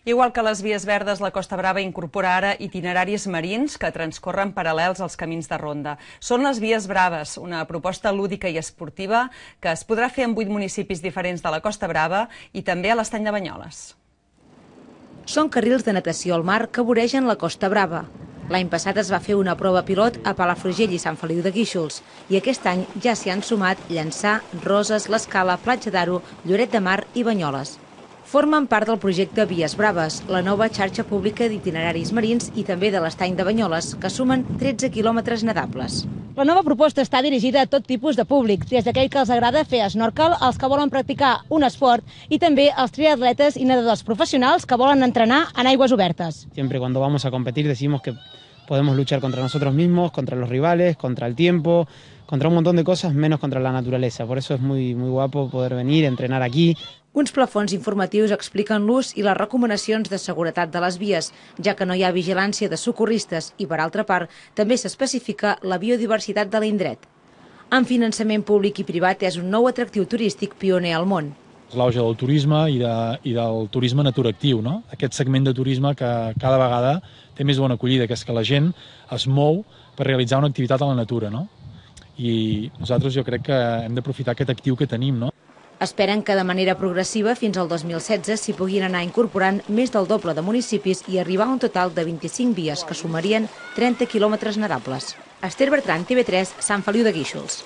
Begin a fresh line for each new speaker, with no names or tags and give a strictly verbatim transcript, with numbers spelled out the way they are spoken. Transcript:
Igual que les vies verdes, la Costa Brava incorpora ara itineraris marins que transcorren paral·lels als camins de ronda. Són les Vies Braves, una proposta lúdica i esportiva que es podrà fer en vuit municipis diferents de la Costa Brava i també a l'Estany de Banyoles.
Són carrils de natació al mar que voregen la Costa Brava. L'any passat es va fer una prova pilot a Palafrugell i Sant Feliu de Guíxols i aquest any ja s'hi han sumat Llançà, Roses, l'Escala, Platja d'Aro, Lloret de Mar i Banyoles. Formen part del projecte Vies Braves, la nova xarxa pública d'itineraris marins i també de l'Estany de Banyoles, que sumen tretze quilòmetres nadables.
La nova proposta està dirigida a tot tipus de públic, des d'aquell que els agrada fer snorkel, als que volen practicar un esport i també als triatletes i nedadors professionals que volen entrenar en aigües obertes.
Siempre cuando vamos a competir decimos que podemos luchar contra nosotros mismos, contra los rivales, contra el tiempo, contra un montón de cosas, menos contra la naturaleza. Por eso es muy, muy guapo poder venir, entrenar aquí.
Uns plafons informatius expliquen l'ús i les recomanacions de seguretat de les vies, ja que no hi ha vigilància de socorristes i, per altra part, també s'especifica la biodiversitat de l'indret. Amb finançament públic i privat és un nou atractiu turístic pioner al món.
L'auge del turisme i, de, i del turisme naturactiu, no? Aquest segment de turisme que cada vegada té més bona acollida, que és que la gent es mou per realitzar una activitat a la natura, no? I nosaltres jo crec que hem d'aprofitar aquest actiu que tenim, no?
Esperen que de manera progressiva fins al dos mil setze s'hi puguin anar incorporant més del doble de municipis i arribar a un total de vint-i-cinc vies que sumarien trenta quilòmetres nadables. Esther Bertran, T V tres, Sant Feliu de Guíxols.